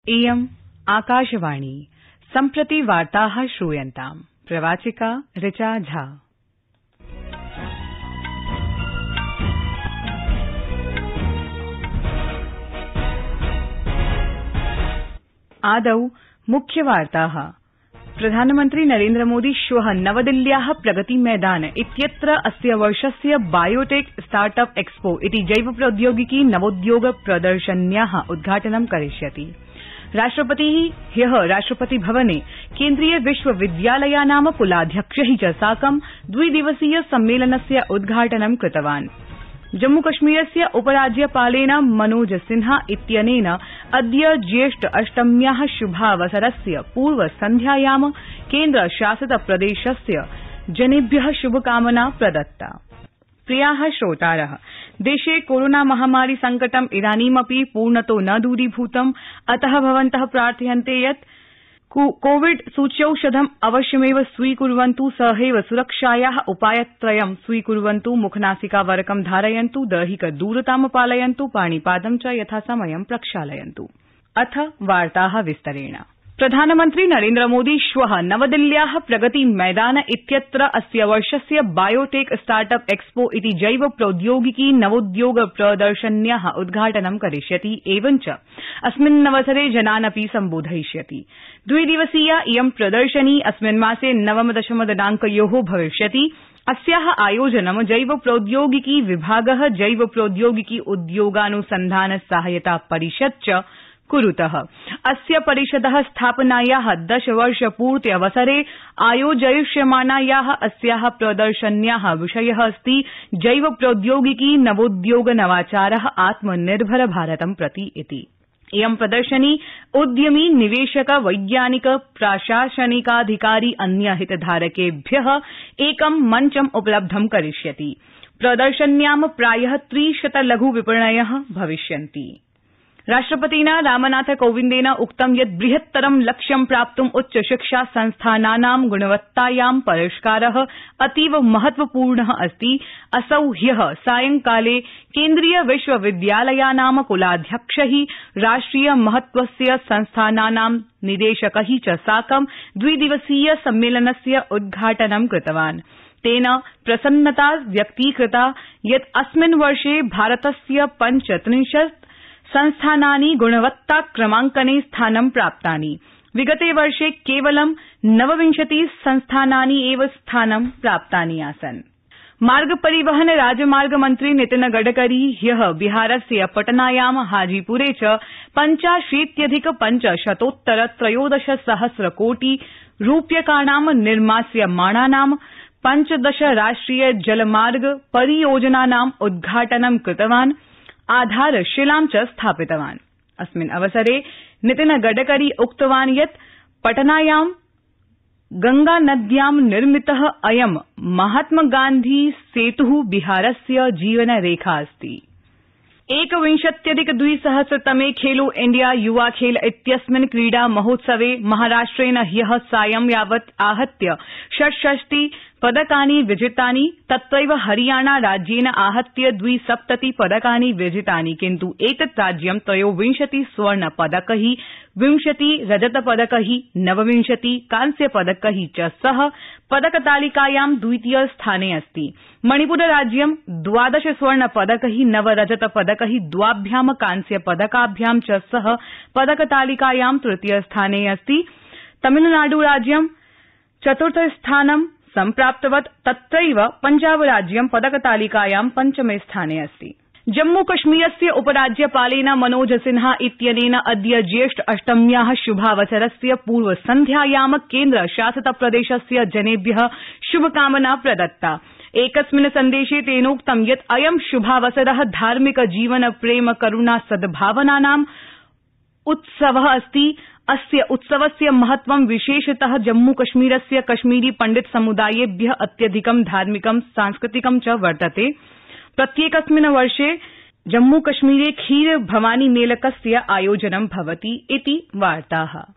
इयम् आकाशवाणी सम्प्रति वार्ताः श्रूयन्ताम्। प्रवाचिका ऋचा झा। आदौ मुख्यवार्ताः। प्रधानमन्त्री नरेन्द्र मोदी श्वः नवदिल्ल्याः प्रगति मैदान इत्यत्र अस्य वर्षस्य बायोटेक स्टार्टअप एक्सपो इति जैव प्रौद्योगिकी नवोद्योग प्रदर्शन्याः उद्घाटनं करिष्यति। राष्ट्रपतिः ह्यः राष्ट्रपति भवने केन्द्रीय विश्वविद्यालयानां कुलाध्यक्षैः च साकं द्विदिवसीय सम्मेलनस्य उद्घाटनं कृतवान्। जम्मूकश्मीरस्य उपराज्यपालेन मनोज सिन्हा इत्यनेन अद्य ज्येष्ठ अष्टम्याः शुभावसरस्य पूर्वसन्ध्यायां केन्द्रशासित प्रदेशस्य जनेभ्यः शुभकामना प्रदत्ता। प्रियाः श्रोतारः, देशे कोरोना महामारी संकटम् इदानीमपि पूर्णतो न दूरीभूतम्। अतः भवन्तः प्रार्थयन्ते यत् कोविड सूच्यौषधम् अवश्यमेव स्वीकुर्वन्तु, सहैव सुरक्षायाः उपायत्रयं स्वीकुर्वन्तु, मुखनासिकावरकं धारयन्तु, दैहिकदूरतां पालयन्तु, पाणिपादं च यथासमयं प्रक्षालयन्तु। अथ वार्ताः विस्तरेण। प्रधानमन्त्री नरेन्द्र मोदी श्वः नवदिल्ल्याः प्रगति मैदान इत्यत्र अस्य वर्षस्य बायोटेक स्टार्टअप एक्सपो इति जैव प्रौद्योगिकी नवोद्योग प्रदर्शन्याः उद्घाटनं करिष्यति। एवञ्च अस्मिन्नवसरे जनान् अपि सम्बोधयिष्यति। द्विदिवसीया इयं प्रदर्शनी अस्मिन् मासे 9-10 दिनांकयोः भविष्यति। अस्याः आयोजनं जैव प्रौद्योगिकी विभागः, जैव प्रौद्योगिकी उद्योगानुसन्धान सहायता परिषद च कुरुतः। अस्य परिषदः स्थापनायाः 10 वर्षपूर्त्यवसरे आयोजयिष्यमाणायाः अस्याः प्रदर्शन्याः विषयः अस्ति जैव प्रौद्योगिकी नवोद्योग नवाचारः आत्मनिर्भर भारतं प्रति इति। इयं प्रदर्शनी उद्यमी, निवेशक, वैज्ञानिक, प्राशासनिकाधिकारी, अन्य हितधारकेभ्यः एकं मञ्चम् उपलब्धं करिष्यति। प्रदर्शन्यां प्रायः 300 लघु विपणयः भविष्यन्ति। राष्ट्रपतिना रामनाथ कोविन्देन उक्तं यत् बृहत्तरं लक्ष्यं प्राप्तुं उच्चशिक्षा संस्थानानां गुणवत्तायां परिष्कारः अतीव महत्वपूर्णः अस्ति। असौ ह्यः सायंकाले केन्द्रीय विश्वविद्यालयानां कुलाध्यक्षैः, राष्ट्रिय महत्वस्य संस्थानानां निदेशकैः च साकं द्विदिवसीय सम्मेलनस्य उद्घाटनं कृतवान्। तेन प्रसन्नता व्यक्तीकृता यत् अस्मिन् वर्षे भारतस्य 35 संस्थानानि गुणवत्ताक्रमाङ्कने स्थानं प्राप्तानि। विगते वर्षे केवलं 29 संस्थानानि एव स्थानं प्राप्तानि आसन्। मार्ग परिवहन राजमार्ग मन्त्री नितिन गडकरी ह्यः बिहारस्य पटनायां, हाजीपुरे च 85,500 सहस्र कोटि रूप्यकाणां निर्मास्यमाणानां 15 राष्ट्रिय जलमार्ग परियोजनानाम् उद्घाटनं कृतवान्, आधारशिलां च स्थापितवान्। अस्मिन् अवसरे नितिन गडकरी उक्तवान् यत् पटनायां गंगानद्यां निर्मितः अयं महात्मगान्धी सेतुः बिहारस्य जीवनरेखा अस्ति। 21,200तमे खेलो इंडिया युवा खेल इत्यस्मिन् क्रीडा महोत्सवे महाराष्ट्रेण ह्यः सायं यावत् आहत्य 66 पदकानि विजितानि। तत्रैव हरियाणा राज्येन आहत्य 72 पदकानि विजितानि, किन्तु एतत् राज्यं 23 स्वर्णपदकैः, 20 रजतपदकैः, 29 कांस्यपदकैः च सह पदकतालिकायां द्वितीय स्थाने अस्ति। मणिपुरराज्यं 12 स्वर्णपदकैः, 9 रजतपदकैः, 2 कांस्यपदकाभ्यां च सह पदकतालिकायां तृतीय स्थाने अस्ति। तमिलनाडुराज्यं 4th स्थानं सम्प्राप्तवत्। तत्रैव पञ्जाबराज्यं पदकतालिकायां 5मे स्थाने अस्ति। जम्मूकश्मीरस्य उपराज्यपालेन मनोज सिन्हा इत्यनेन अद्य ज्येष्ठ अष्टम्याः शुभावसरस्य पूर्वसन्ध्यायां केन्द्रशासित प्रदेशस्य जनेभ्यः शुभकामना प्रदत्ता। एकस्मिन् सन्देशे तेनोक्तं यत् अयं शुभावसरः धार्मिक जीवन, प्रेम, करुणा, सद्भावनानाम् उत्सवः अस्ति। अस्य उत्सवस्य महत्वं विशेषतः जम्मूकश्मीरस्य कश्मीरी पंडित समुदायेभ्यः अत्यधिकं धार्मिकं, सांस्कृतिकं च वर्तते। प्रत्येकस्मिन् वर्षे जम्मूकश्मीरे खीर भवानी मेलकस्य आयोजनं भवति इति वार्ताः।